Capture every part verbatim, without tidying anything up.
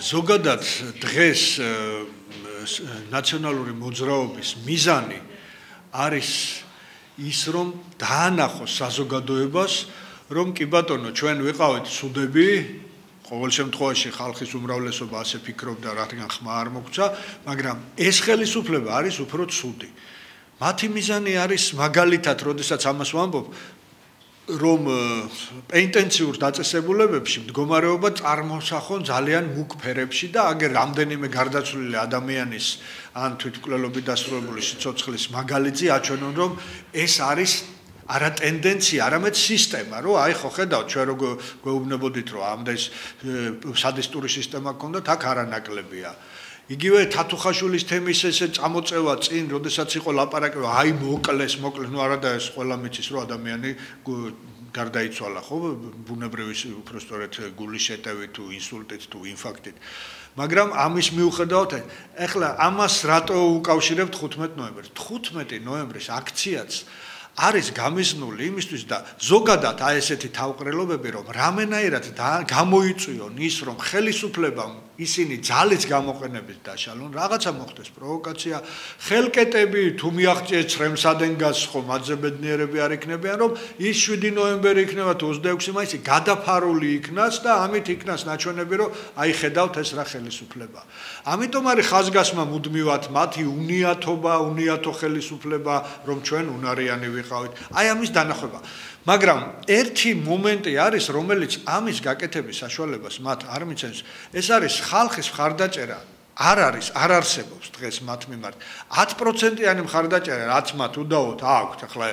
ზოგადად დღეს ნაციონალური მოძრაობის მიზანი არის ის რომ დაანახოს საზოგადოებას რომ კი ბატონო ჩვენ ვიყავით სუდები ყოველ შემთხვევაში ხალხის უმრავლესობა ასე ფიქრობდა რადგან ხმა არ მოგცა მაგრამ ეს ხელისუფლება არის უფრო ცუდი მათი მიზანი არის მაგალითად როდესაც ამას ვამბობ რომ ინტენსიურ დაწესებულებებში მდგომარეობა წარმოსახონ ძალიან მუქ ფერებში და აგერ რამდენიმე გარდაცვლილი ადამიანის ან თვითმკვლელობით დასრულებული სიცოცხლის მაგალითი აჩვენონ რომ ეს არის არა ტენდენცია, არამედ სისტემა, რომ აი ხო ხედავთ ჩვენ როგორ გვეუბნებოდით რომ ამდენ სადისტური სისტემა გქონდათ, აქ არანაკლებია. იგივე თათუხაშვილის თემის ესე წამოწევა წინ, როდესაც იყო ლაპარაკი, რომ აი მოკლეს, მოკლეს, ნუ არადა ეს ყველა მიცის რომ ადამიანი გარდაიცვალა, ხო, ბუნებრივი უბრალოდ გულის შეტევით თუ ინსულტით თუ ინფარქტით. მაგრამ ამის მიუხედავად, ეხლა ამას რატო უკავშირებთ ხუთმეტ ნოემბერს? ხუთმეტი ნოემბრის აქციაც არის გამიზნული იმისთვის და ზოგადად აი ესეთი თავყრელობები რომ რამენაირად გამოიწვიონ ის რომ ხელისუფლებამ ისინი ძალის გამოყენებით დაშალონ რაღაცა მოხდეს პროვოკაცია ხელკეტები თუ მიაღწიეს ცრემსადენგას ხო მათზე ბედნიერები არ იქნებიან რომ ის შვიდი ნოემბერი იქნება თუ ოცდაექვსი მაისი გადაფარული იქნას და ამით იქნას ნაჩვენები რომ აი ხედავთ ეს რა ხელისუფლება ამიტომ არის ხაზგასმა მუდმივად მათი უნიათობა უნიათო ხელისუფლება რომ ჩვენ უნარიანი ვიყავით აი ამის დანახება მაგრამ ერთი მომენტი არის რომელიც ამის გაკეთების საშუალებას მათ არ მიცემს ეს არის ხალხის მხარდაჭერა არ არის არ არსებობს დღეს მათ მიმართ ათი პროცენტიანი მხარდაჭერა რაც მათ უდაოდ აქვთ ახლა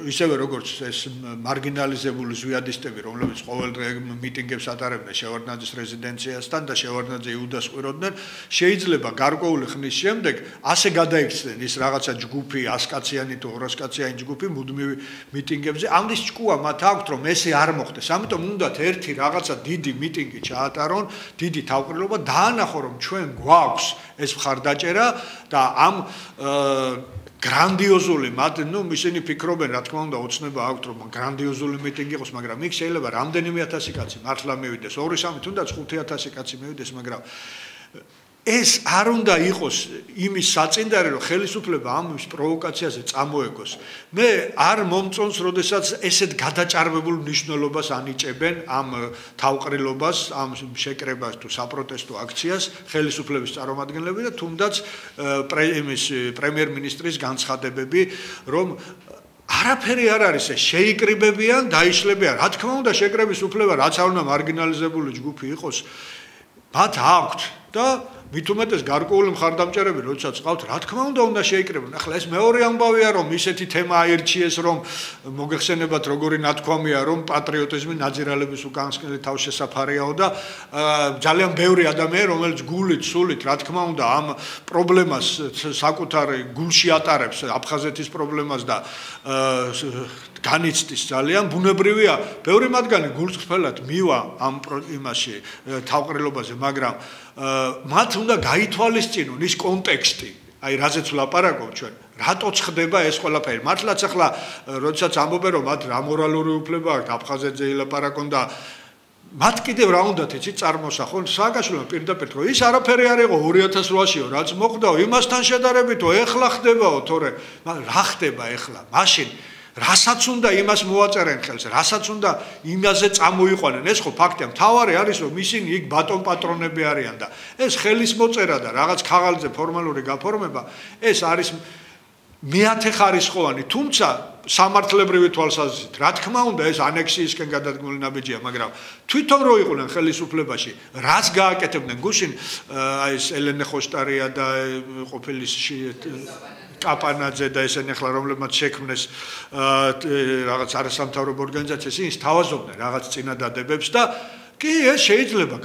ისევე როგორც ეს მარგინალიზებული ზვიადისტები რომლებიც ყოველდღე მიტინგებს ატარებდნენ შევარდნაძის რეზიდენციასთან და შევარდნაძე იუდას ყვიროდნენ შეიძლება გარკვეული ხნის შემდეგ ასე გადაიქცნენ ის რაღაცა ჯგუფი ასკაციანი თუ ორასკაციანი ჯგუფი მუდმივი მიტინგებზე ამის ჭკუა მათ აქვთ რომ ესე არ მოხდეს ამიტომ უნდათ ერთი რაღაცა დიდი მიტინგი ჩაატარონ დიდი თავყრილობა დაანახო რომ ჩვენ გვაქვს ეს მხარდაჭერა და ამ გრანდიოზული მათ ნუ ისინი ფიქრობენ რა თქმა უნდა ოცნება აქვთ რომ გრანდიოზული მიტინგი იყოს მაგრამ იქ შეიძლება რამდენიმე ათასი კაცი მართლა მივიდეს ორი სამი თუნდაც ხუთი ათასი კაცი მივიდეს მაგრამ ეს არ უნდა იყოს იმის საწინდარი რომ ხელისუფლება ამის პროვოკაციაზე წამოეგოს მე არ მომწონს როდესაც ესეთ გადაჭარბებულ მნიშვნელობას ანიჭებენ ამ თავყრილობას ამ შეკრებას თუ საპროტესტო აქციას ხელისუფლების წარმომადგენლები და თუნდაც იმის პრემიერ-მინისტრის განცხადებები რომ არაფერი არ არის ეს შეიკრიბებიან დაიშლებიან რა თქმა უნდა შეკრების უფლება რაც არ უნდა მარგინალიზებული ჯგუფი იყოს მათ აქვთ და მით უმეტეს გარკვეული მხარდამჭერები როდესაც ყავთ რა თქმა უნდა უნდა შეიკრიბონ ახლა ეს მეორე ამბავია რომ ისეთი თემა აირჩიეს რომ მოგეხსენებათ როგორი ნათქვამია რომ პატრიოტიზმი ნაძირალების უკანასკნელი თავშესაფარიაო და ძალიან ბევრი ადამიანი რომელიც გულით სულით რა თქმა უნდა ამ პრობლემას საკუთარ გულში ატარებს აფხაზეთის პრობლემას და განიცდის ძალიან ბუნებრივია ბევრი მათგანი გულწრფელად მივა ამ იმაში თავყრილობაზე მაგრამ მათ უნდა გაითვალისწინონ ის კონტექსტი აი რაზეც ვლაპარაკობ ჩვენ რატოც ხდება ეს ყველაფერი მართლაც ახლა როდესაც ამბობენ რომ მათ რა მორალური უფლება აქვს აფხაზეთზე ილაპარაკონ და მათ კიდევ რა უნდათ იცით წარმოსახონ სააკაშვილმა პირდაპირ რომ ის არაფერი არ იყო ორი ათას რვაშიო რაც მოხდაო იმასთან შედარებითო ეხლა ხდებაო თორე რა ხდება ეხლა მაშინ რასაც უნდა იმას მოაწერენ ხელს, რასაც უნდა იმაზე წამოიყვანენ. ეს ხო ფაქტია. მთავარი არის რომ ისინი იქ ბატონ პატრონები არიან და ეს ხელის მოწერა და რაღაც ქაღალდზე ფორმალური გაფორმება, ეს არის მეათე ხარისხოვანი, თუმცა სამართლებრივი თვალსაზრისით. რა თქმა უნდა ეს ანექსიისკენ გადადგმული ნაბიჯია, მაგრამ თვითონ რო იყვნენ ხელისუფლებაში, რაც გააკეთებდნენ გუშინ აი ეს ელენე ხოშტარია და ყოფილი კაპანაძე და ესენი ახლა რომლებმაც შექმნეს რაღაც არასამთავრობო ორგანიზაციას ის თავაზობდნენ რაღაც წინადადებებს და კი ეს შეიძლება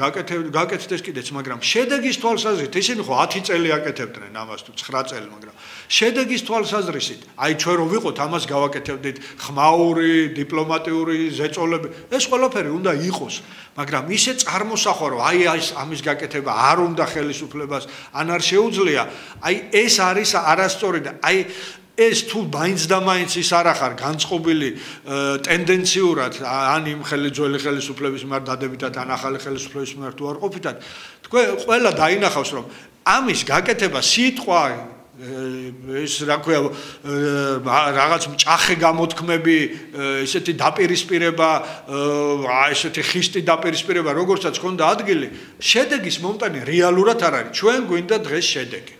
გაკეთდეს კიდეც მაგრამ შედეგის თვალსაზრისით ისინი ხო ათი წელი აკეთებდნენ ამას თუ ცხრა წელი მაგრამ შედეგის თვალსაზრისით აი ჩვენ რო ვიყოთ ამას გავაკეთებდით ხმაური დიპლომატიური ზეწოლები ეს ყველაფერი უნდა იყოს მაგრამ ისე წარმოსახვა რომ აი ეს ამის გაკეთება არ უნდა ხელისუფლებას ან არ შეუძლია აი ეს არის არასწორი და აი ეს თუ მაინც და მაინც ის არ ახარ განწყობილი ტენდენციურად ან იმ ძველი ხელისუფლების მიმართ დადებითად ან ახალი ხელისუფლების მიმართ უარყოფითად თქვენ ყველა დაინახავს რომ ამის გაკეთება სიტყვა ეს რა ქვია რაღაც მჭახე გამოთქმები ესეთი დაპირისპირება ესეთი ხისტი დაპირისპირება როგორცაც ქონდა ადგილი შედეგის მომტანი რეალურად არ არის ჩვენ გვინდა დღეს შედეგი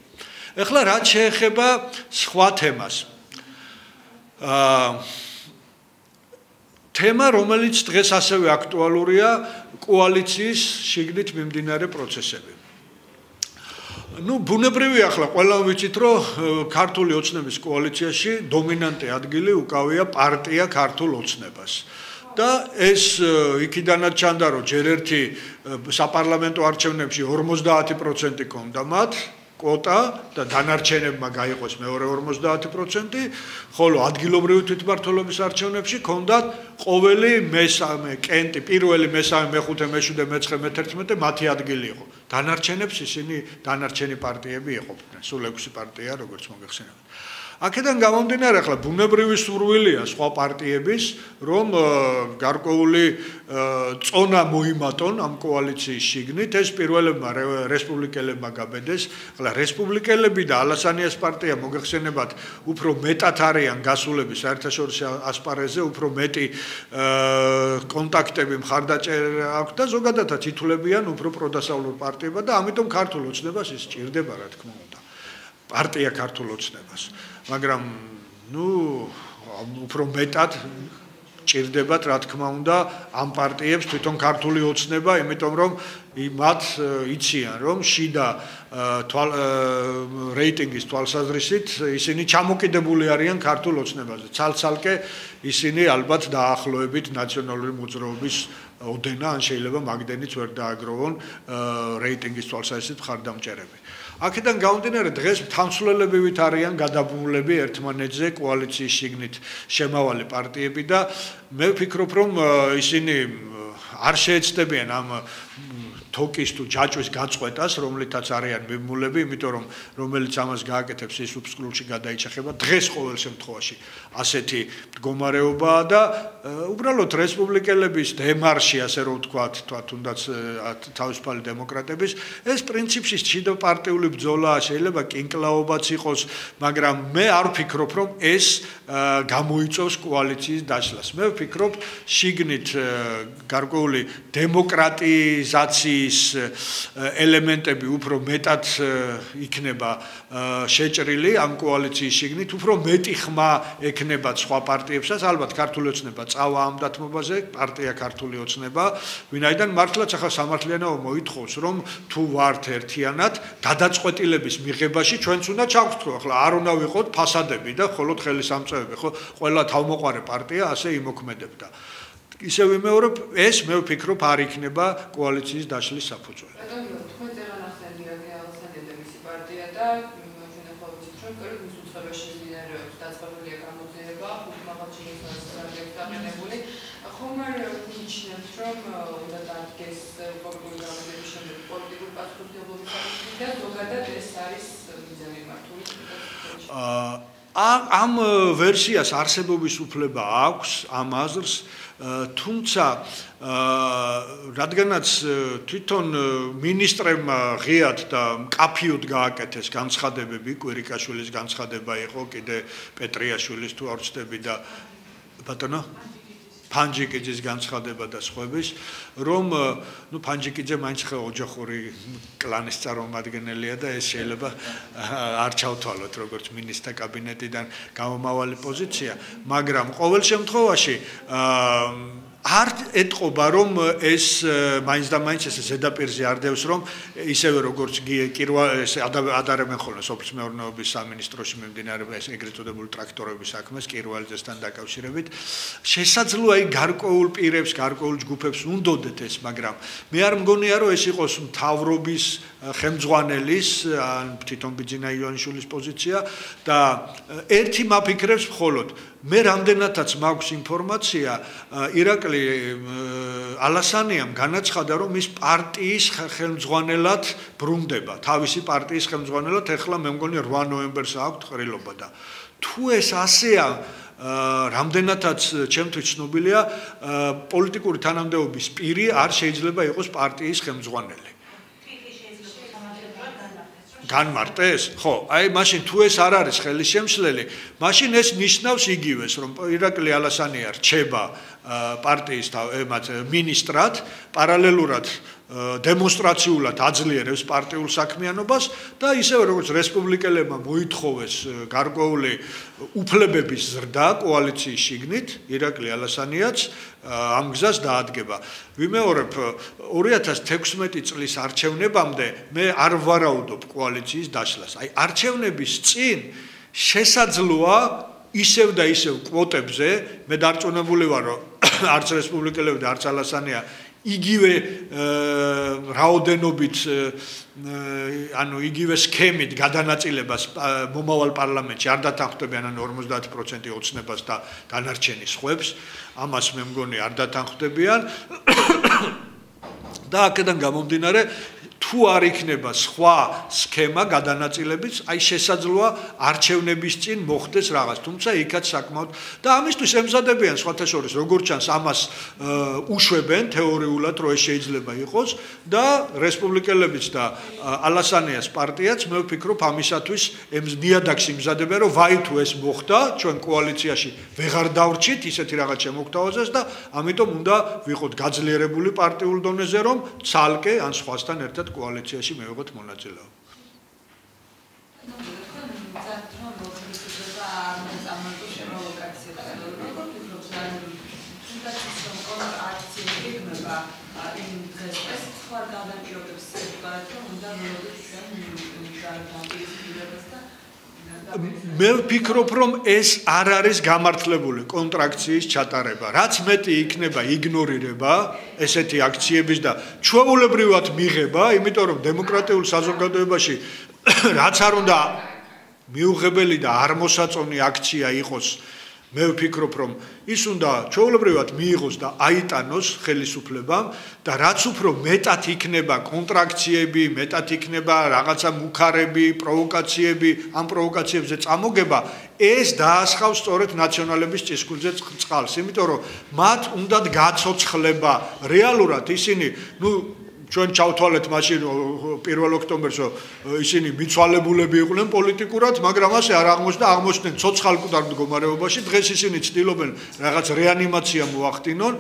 ეხლა რაც შეეხება სხვა თემას აა თემა რომელიც დღეს ასევე აქტუალურია კოალიციის შიგნით მიმდინარე პროცესები ну ბუნებრივია ახლა ყველა ვიცით რომ ქართული ოცნების კოალიციაში დომინანტი ადგილი უკავია პარტია ქართულ ოცნებას და ეს იქიდანაც ჩანდა რომ ჯერ ერთი საპარლამენტო არჩევნებში ორმოცდაათი პროცენტი ქონდა მათ კვოტა და დანარჩენებმა გაიყოს მეორე ორმოცდაათი პროცენტი, ხოლო ადგილობრივი თვითმმართველობის არჩევნებში ქონდათ ყოველი მესამე კენტი, პირველი, მესამე, მეხუთე, მეშვიდე, მეცხრე, მეთერთმეტე მათი ადგილი იყო. დანარჩენებს ისინი დანარჩენი პარტიები იყოფდნენ, სულ ექვსი პარტია, როგორც მოგეხსენებათ. აქედან გამომდინარე, ახლა ბუნებრივი სურვილია სხვა პარტიების, რომ გარკვეული წონა მოიმატონ ამ კოალიციის შიგნით, ეს პირველებმა რესპუბლიკელებმა გაბედეს. ახლა რესპუბლიკელები და ალასანიას პარტია მოგეხსენებათ, უფრო მეტად არიან გასულები საერთაშორისო ასპარეზზე, უფრო მეტი კონტაქტები მხარდაჭერა აქვს და ზოგადადაც ითვლებიან უფრო პროდასავლურ პარტიებად და ამიტომ ქართულ ოცნებას ის სჭირდება, რა თქმა უნდა. პარტია ქართულ ოცნებას. მაგრამ ნუ უფრო მეტად ჭირდებათ რა თქმა უნდა ამ პარტიებს თვითონ ქართული ოცნება, იმიტომ რომ მათ იციან რომ შიდა რეიტინგის თვალსაზრისით ისინი ჩამოკიდებული არიან ქართულ ოცნებაზე. ცალ-ცალკე ისინი ალბათ დაახლოებით ნაციონალური მოძრაობის ოდენა ან შეიძლება მაგდენიც ვერ დააგროვონ რეიტინგის თვალსაზრისით მხარდამჭერები. აქედან გამომდინარე დღეს თანცვლელებივით არიან გადაბმულები ერთმანეთზე კოალიციის შიგნით შემავალი პარტიები და მე ვფიქრობ რომ ისინი არ შეეცდებიან ამ თოკის თუ ჯაჭვის გაწყვეტას, რომლითაც არიან მიმულები, იმიტომ რომ რომელიც ამას გააკეთებს ის უფსკრულში გადაიჭახება. დღეს ყოველ შემთხვევაში ასეთი მდგომარეობაა და უბრალოდ რესპუბლიკელების დემარში, ასე რომ ვთქვათ, თუნდაც თავისუფალი დემოკრატების, ეს პრინციპში შიდა პარტიული ბრძოლაა, შეიძლება კინკლაობაც იყოს, მაგრამ მე არ ვფიქრობ, რომ ეს გამოიწვევს კოალიციის დაშლას. მე ვფიქრობ, შიგნით გარკვეული დემოკრატიზაციის ელემენტები უფრო მეტად იქნება შეჭრილი ამ კოალიციის შიგნით, უფრო მეტი ხმა ექნებათ სხვა პარტიებსაც, ალბათ ქართული ოცნება წავა ამ დათმობაზე, პარტია ქართული ოცნება, ვინაიდან მართლაც ახლა სამართლიანობა მოითხოვს, რომ თუ ვართ ერთიანად, გადაწყვეტილების მიღებაში ჩვენც უნდა ჩავხტრო, ახლა არ უნდა ვიყოთ ფასადები და მხოლოდ ხელისამწყებები, ხო, ყველა თავმოყარე პარტია ასე იმოქმედებდა. ისე ვიმეორებ, ეს მე ვფიქრობ არ იქნება კოალიციის დაშლის საფუძველი. თქვენ წერან ახსენებია ალასანია და მისი პარტია და შენახავთ რომ კერულ მის უცხოებაში მიმდინარეობს დაწყებულია გამოძიება, ხუთმაღალჩინოს სტრატეგიას დაყენებული. ხომ არ მიიჩნევთ რომ უნდა დადგეს პოლიტიკური გამოძიების შემდეგ პოლიტიკური პასუხისმგებლობის საკითხი და ზოგადად ეს არის მიზანი მართული? ამ ვერსიას არსებობის უფლება აქვს ამ აზრს თუმცა რადგანაც თვითონ მინისტრებმა ღიად და მკაფიოდ გააკეთეს განცხადებები, კვირიკაშვილის განცხადება იყო, კიდე პეტრიაშვილის თუ არ ვცდები და ბატონო ფანჯიკიძის განცხადება და სხვების, რომ ნუ ფანჯიკიძე მაინც ხე ოჯახური კლანის წარმომადგენელია და ეს შეიძლება არ ჩავთვალოთ როგორც მინისტრთა კაბინეტიდან გამომავალი პოზიცია, მაგრამ ყოველ შემთხვევაში არ ეტყობა რომ ეს მაინც და მაინც ეს ზედაპირზე არ დევს რომ ისევე როგორც კირვა ადარებენ ხოლმე სოფლის მეურნეობის სამინისტროში მიმდინარე ეს ეგრეთ წოდებული ტრაქტორების საქმეს კირვალიძესთან დაკავშირებით შესაძლოა იქ გარკვეულ პირებს გარკვეულ ჯგუფებს უნდოდეთ ეს მაგრამ მე არ მგონია რომ ეს იყოს მთავრობის ხელმძღვანელის ან თვითონ ბიძინა ივანიშვილის პოზიცია და ერთი მაფიქრებს მხოლოდ მე რამდენადაც მაქვს ინფორმაცია ირაკლი ალასანიამ განაცხადა რომ ის პარტიის ხელმძღვანელად ბრუნდება თავისი პარტიის ხელმძღვანელად ეხლა მე მგონი რვა ნოემბერს აქვს ყრილობა და თუ ეს ასეა რამდენადაც ჩემთვის ცნობილია პოლიტიკური თანამდებობის პირი არ შეიძლება იყოს პარტიის ხელმძღვანელი. განმარტეს? ხო, აი მაშინ თუ ეს არ არის ხელისშემშლელი, მაშინ ეს ნიშნავს იგივეს, რომ ირაკლი ალასანია რჩება პარტიის ემაც მინისტრად, პარალელურად დემონსტრაციულად აძლიერებს პარტიულ საქმიანობას და ისევე როგორც რესპუბლიკელებმა მოითხოვეს გარკვეული უფლებების ზრდა კოალიციის შიგნით, ირაკლი ალასანიაც ამ გზას დაადგება. ვიმეორებ ორი ათას თექვსმეტი წლის არჩევნებამდე მე არ ვარაუდობ კოალიციის დაშლას. აი არჩევნების წინ შესაძლოა ისევ და ისევ კვოტებზე მე დარწმუნებული ვარ, რომ არც რესპუბლიკელები და არც ალასანია იგივე რაოდენობით ანუ იგივე სქემით გადანაწილებას მომავალ პარლამენტში არ დათანხმდებიან ან ორმოცდაათი პროცენტი ოცნებას და დანარჩენი სხვებს, ამას მე მგონი არ დათანხმდებიან და აქედან გამომდინარე თუ არ იქნება სხვა სქემა გადანაწილების, აი შესაძლოა არჩევნების წინ მოხდეს რაღაც, თუმცა იქაც საკმაოდ და ამისთვის ემზადებიან სხვათა შორის როგორც ჩანს ამას უშვებენ თეორიულად რომ ეს შეიძლება იყოს და რესპუბლიკელებიც და ალასანიას პარტიაც მე ვფიქრობ ამისათვის ნიადაგს იმზადებიან რომ ვაი თუ ეს მოხდა ჩვენ კოალიციაში ვეღარ დავრჩით ისეთი რაღაც შემოგთავაზეს და ამიტომ უნდა ვიყოთ გაძლიერებული პარტიულ დონეზე რომ ცალკე ან სხვასთან ერთად კოალიციაში მივიღოთ მონაწილეობა. მე ვფიქრობ რომ ეს არ არის გამართლებული კონტრაქციის ჩატარება. რაც მეტი იქნება იგნორირება ესეთი აქციების და ჩვეულებრივად მიღება, იმიტომ რომ დემოკრატიულ საზოგადოებაში რაც არ უნდა მიუღებელი და არ მოსაწონი აქცია იყოს, მე ვფიქრობ რომ ის უნდა ჩვეულებრივად მიიღოს და აიტანოს ხელისუფლებამ და რაც უფრო მეტად იქნება კონტრაქციები, მეტად იქნება რაღაცა მუქარები, პროვოკაციები, ამ პროვოკაციებზე წამოგება, ეს დაასხავს სწორედ ნაციონალების ჭისქვილზე წყალს, იმიტომ რომ მათ უნდათ გაცოცხლება რეალურად ისინი, ნუ ჩვენ ჩავთვალეთ მაშინ პირველ ოქტომბერს ისინი მიცვალებულები იყვნენ პოლიტიკურად, მაგრამ ასე არ აღმოჩნდა, აღმოჩნდნენ ცოცხალკუდარ მდგომარეობაში, დღეს ისინი ცდილობენ რაღაც რეანიმაცია მოახდინონ,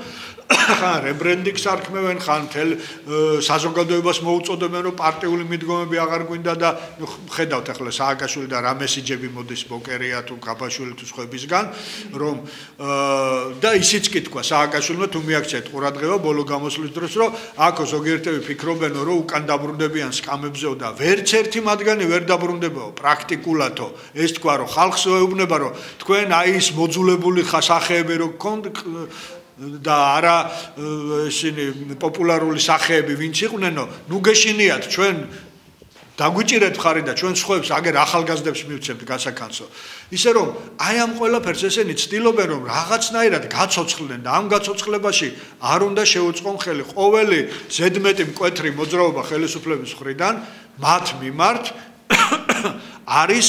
ხან რებრენდინგს არქმევენ, ხან თელ საზოგადოებას მოუწოდებენ, რომ პარტიული მიდგომები აღარ გვინდა და ხედავთ ახლა სააკაშვილი და რა მესიჯები მოდის ბოკერია თუ გაბაშვილი თუ სხვებისგან, რომ და ისიც კი თქვა სააკაშვილმა თუ მიაქციეთ ყურადღება ბოლო გამოსვლის დროს, რომ აქო ზოგიერთები ფიქრობენ რომ უკან დაბრუნდებიან სკამებზეო და ვერც ერთი მათგანი ვერ დაბრუნდებაო პრაქტიკულადო ეს თქვა რომ ხალხს ეუბნება რომ თქვენ აი ის მოძულებული სახეები რო გქონდ და არა ისინი პოპულარული სახეები ვინც იყვნენო ნუ გეშინიათ ჩვენ დაგვიჭირეთ ხარი და ჩვენ სხვებს აგერ ახალგაზრდებს მივცემთ გასაკანცო ისე რომ აი ამ ყველაფერს ესენი ცდილობენ რომ რაღაცნაირად გაცოცხლდნენ და ამ გაცოცხლებაში არ უნდა შეუწყონ ხელი ყოველი ზედმეტი მკვეთრი მოძრაობა ხელისუფლების მხრიდან მათ მიმართ არის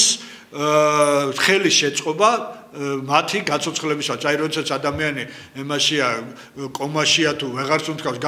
ხელის შეწყობა მათი გაცოცხლებისაც აი როდესაც ადამიანი ემაშია კომაშია თუ ვეღარც უმთქავს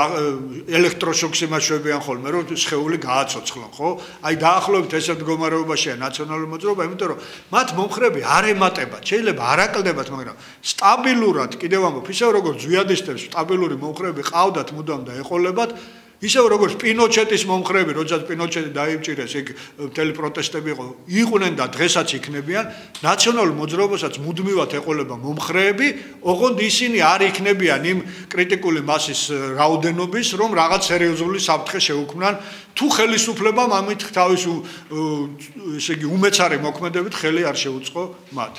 ელექტროშოქს იმაშვებიან ხოლმე რომ სხეული გააცოცხლონ ხო აი დაახლოებით ესე მდგომარეობაშია ნაციონალური მოძრაობა იმიტომ რომ მათ მომხრები არ ემატებათ შეიძლება არ აკლდებათ მაგრამ სტაბილურად კიდევ ამბობ ისე როგორც ზვიადისტებს სტაბილური მომხრები ყავდათ მუდამ და ეყოლებათ ისევ როგორც პინოჩეტის მომხრები, როდესაც პინოჩეტი დაიბჭირეს, იქ მთელი პროტესტები იყო, იყვნენ და დღესაც იქნებიან, ნაციონალურ მოძრაობასაც მუდმივად ეყოლება მომხრეები, ოღონდ ისინი არ იქნებიან იმ კრიტიკული მასის რაოდენობის, რომ რაღაც სერიოზული საფრთხე შეუქმნან, თუ ხელისუფლებამ ამით თავის ესე იგი უმეცარი მოქმედებით ხელი არ შეუწყო მათ.